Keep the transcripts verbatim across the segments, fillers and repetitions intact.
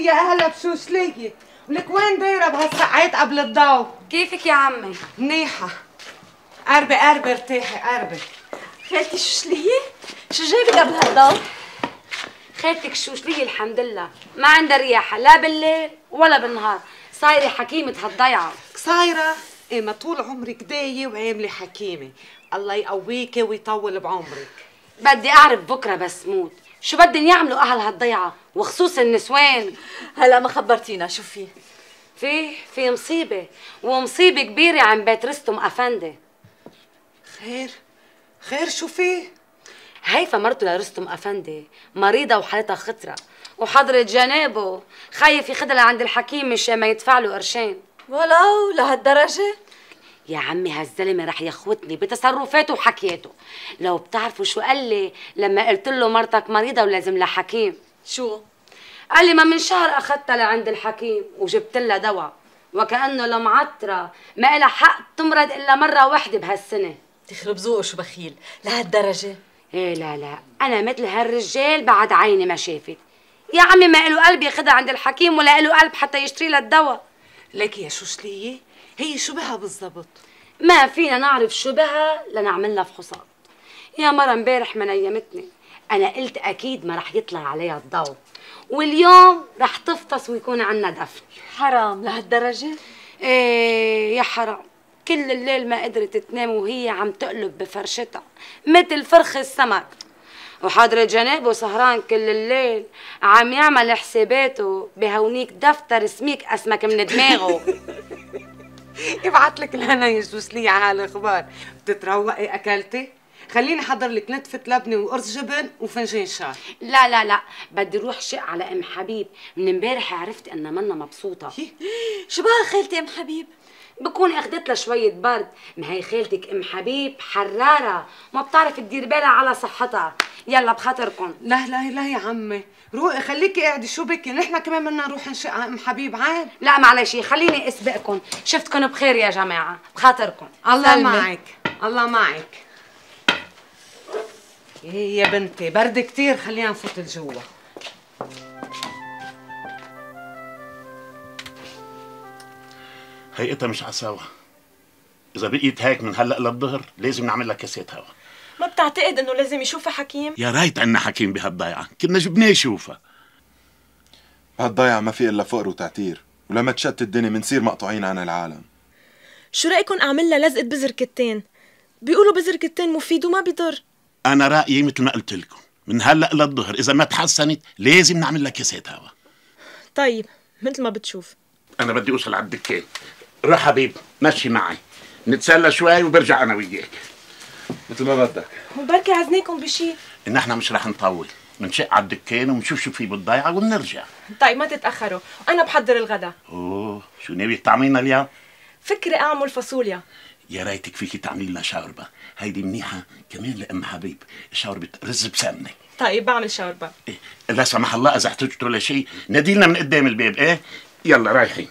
يا اهلا بشوشلية، ولك وين دايرة بهالساعات قبل الضو؟ كيفك يا عمي؟ منيحة. قربي قربي ارتاحي قربي. خالتي شوشلية؟ شو جايبك قبل هالضو؟ خالتك شوشلية الحمد لله ما عندها رياحة لا بالليل ولا بالنهار، صايرة حكيمة هالضيعة. صايرة؟ ايه ما طول عمرك داية وعاملة حكيمة، الله يقويكي ويطول بعمرك. بدي أعرف بكرة بس موت شو بدن يعملوا أهل هالضيعة وخصوص النسوان. هلا ما خبرتينا شو في؟ في في مصيبة، ومصيبة كبيرة عن بيت رستم أفندي. خير؟ خير شو فيه؟ هيفا مرته لرستم أفندي مريضة وحالتها خطرة، وحضرة جنابه خايف ياخدها لعند الحكيم مشان ما يدفع له قرشين. ولو لهالدرجة؟ يا عمي هالزلمة رح يخوتني بتصرفاته وحكياته. لو بتعرفوا شو قال لي لما قلت له مرتك مريضة ولازم لها حكيم؟ شو؟ قال لي ما من شهر أخذتها لعند الحكيم وجبت لها دواء، وكأنه المعطرة ما إلها حق تمرض إلا مرة واحدة بهالسنة. تخرب ذوقه شو بخيل، لهالدرجة؟ ايه لا لا أنا مثل هالرجال بعد عيني ما شافت. يا عمي ما إله قلب ياخدها عند الحكيم ولا إله قلب حتى يشتري لها الدواء. لك يا شوشلية هي شو بها بالضبط؟ ما فينا نعرف شو بها لنعمل لها فحوصات. يا مرة امبارح ما نيمتني، أنا قلت أكيد ما رح يطلع عليها الضوء، واليوم رح تفطس ويكون عنا دفن. حرام لهالدرجة؟ ايه يا حرام، كل الليل ما قدرت تنام وهي عم تقلب بفرشتها مثل فرخ السمك، وحضرة جنابه سهران كل الليل عم يعمل حساباته بهونيك دفتر سميك اسمك من دماغه. يبعت لك الهنا يا شوشلية على هالاخبار. بتتروقي اكلتي؟ خليني احضر لك نتفة لبنة وقرص جبن وفنجان شاي. لا لا لا بدي روح شق على ام حبيب، من امبارح عرفت انها منا مبسوطة. شو بها خالتي ام حبيب؟ بكون اخدت لها شوية برد، ما هي خالتك ام حبيب حرارة ما بتعرف تدير بالها على صحتها. يلا بخاطركم. لا لا لا يا عمي روقي خليكي قاعدة شو بكي، نحن كمان بدنا نروح نشق على ام حبيب عاد. لا معلش خليني اسبقكم، شفتكم بخير يا جماعة بخاطركم. الله سلمي. معك الله معك. ايه يا بنتي برد كتير خلينا نفوت لجوا. هيئتها مش عساوة، إذا بقيت هيك من هلأ للظهر لازم نعمل لها كاسات هوا. ما بتعتقد انه لازم يشوفها حكيم؟ يا ريت عنا حكيم بهالضيعة، كنا جبناه يشوفها. بهالضيعة ما في إلا فقر وتعتير، ولما تشتت الدنيا منصير مقطوعين عن العالم. شو رأيكم أعمل لها لزقة بذر كتان؟ بيقولوا بذر كتان مفيد وما بيضر. أنا رأيي مثل ما قلت لكم، من هلأ للظهر إذا ما تحسنت لازم نعمل لها كاسات هوا. طيب مثل ما بتشوف. أنا بدي أوصل على الدكان، روح حبيب مشي معي نتسلى شوي وبرجع أنا وياك. مثل ما بدك. وبركي عزناكم بشي. إن إحنا مش رح نطول، بنشق على الدكان ونشوف شو في بالضيعة وبنرجع. طيب ما تتأخروا، أنا بحضر الغداء. أوه شو ناوي تعملينا اليوم؟ فكري أعمل فاصوليا. يا ريتك فيكي تعملي لنا شوربة، هيدي منيحة كمان لأم حبيب، شوربة رز بسمنة. طيب بعمل شوربة. إيه لا سمح الله إذا احتجتوا لشيء ناديلنا من قدام الباب. إيه يلا رايحين.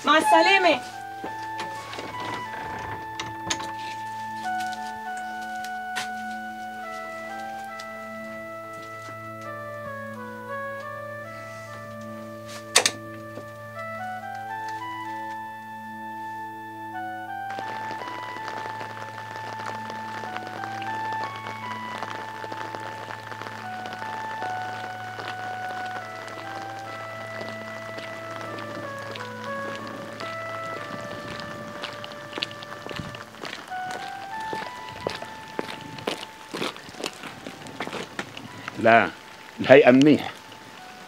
مع السلامة. لا الهيئة منيح،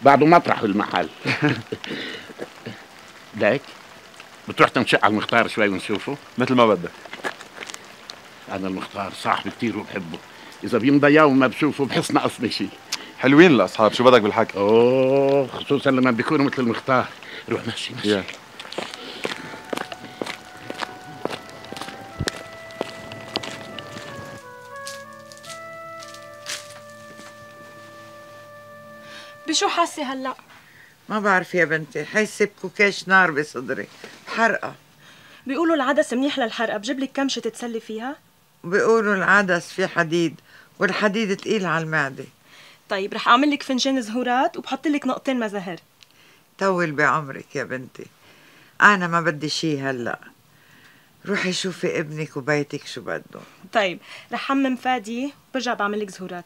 بعده مطرح المحل. ليك بتروح تنشق على المختار شوي ونشوفه. مثل ما بدك. أنا المختار صاحبي كتير وبحبه، إذا بيمضى يوم ما بشوفه بحس ناقصني شيء. حلوين الأصحاب شو بدك بالحكي. أوه خصوصا لما بيكونوا مثل المختار. روح مشي مشي. Yeah. بشو حاسة هلأ؟ ما بعرف يا بنتي، حاسة بكوكاش نار بصدري، حرقة. بيقولوا العدس منيح للحرقة، بجيب لك كمشة تتسلي فيها؟ بيقولوا العدس فيه حديد، والحديد تقيل على المعدة. طيب رح اعمل لك فنجان زهورات وبحط لك نقطتين مزهر. طول بعمرك يا بنتي، انا ما بدي شي هلا. روحي شوفي ابنك وبيتك شو بدهم. طيب رح حمم فادي وبرجع بعمل لك زهورات.